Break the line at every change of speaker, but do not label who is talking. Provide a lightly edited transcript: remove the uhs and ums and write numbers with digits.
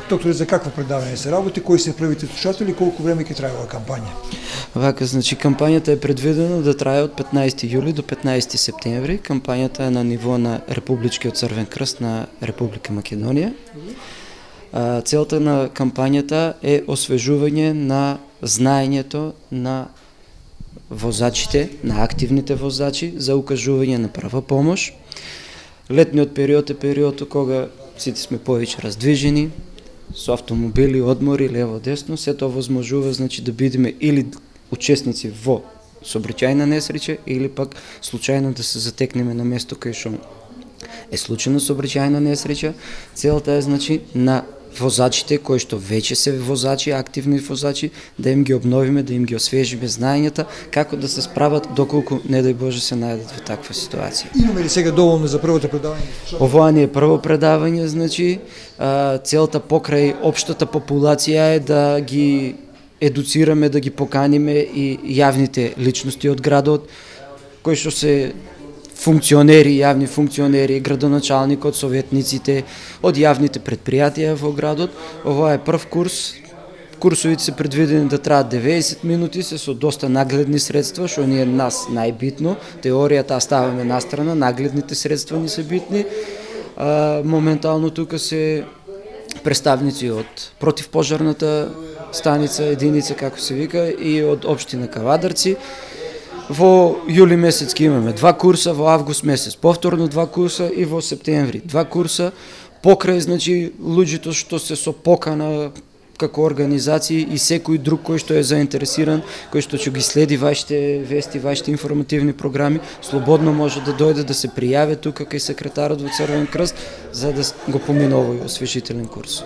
Доктор, за какво предаване се работи, кои се првите слушатели, колку време ќе трае оваа кампања?
Вака, значи кампањата е предвидена да трае од 15 јули до 15 септември. Кампањата е на ниво на Републичкиот Црвен крст на Република Македонија. Целта на кампањата е освежување на знаењето на возачите, на активните возачи за укажување на прва помош. Летниот период е период кога сите сме повеќе раздвижени, со автомобили, одмори, лево-десно, се тоа возможува, значи, да бидеме или учесници во сообраќајна несреќа или пак случајно да се затекнеме на место кај што е случајна сообраќајна несреќа. Целта е, значи, на возачите кои што веќе се возачи, активни возачи, да им ги обновиме, да им ги освежиме знаењата како да се справат доколку не дај Боже се најдат во таква ситуација.
Имаме ли сега доволно за првото предавање?
Ова не е прво предавање, значи целта покрај општата популација е да ги едуцираме, да ги поканиме и јавните личности од градот, кои што се функционери, јавни функционери, градоначалникот, советниците, од јавните предпријатија во градот. Ова е прв курс. Курсовите се предвидени да траат 90 минути, се со доста нагледни средства, што ни е нас најбитно. Теоријата ставаме настрана, нагледните средства ни се битни. Моментално тука се представници од противпожарната станица, единица, како се вика, и од општина Кавадарци. Во јули месец ќе имаме 2 курса, во август месец повторно 2 курса и во септември 2 курса, покрај, значи, луѓето што се со покана како организации и секој друг кој што е заинтересиран, кој што ќе ги следи вашите вести, вашите информативни програми, слободно може да дојде да се пријави тука кај секретарот во Црвен крст за да го помине овој освежителен курс.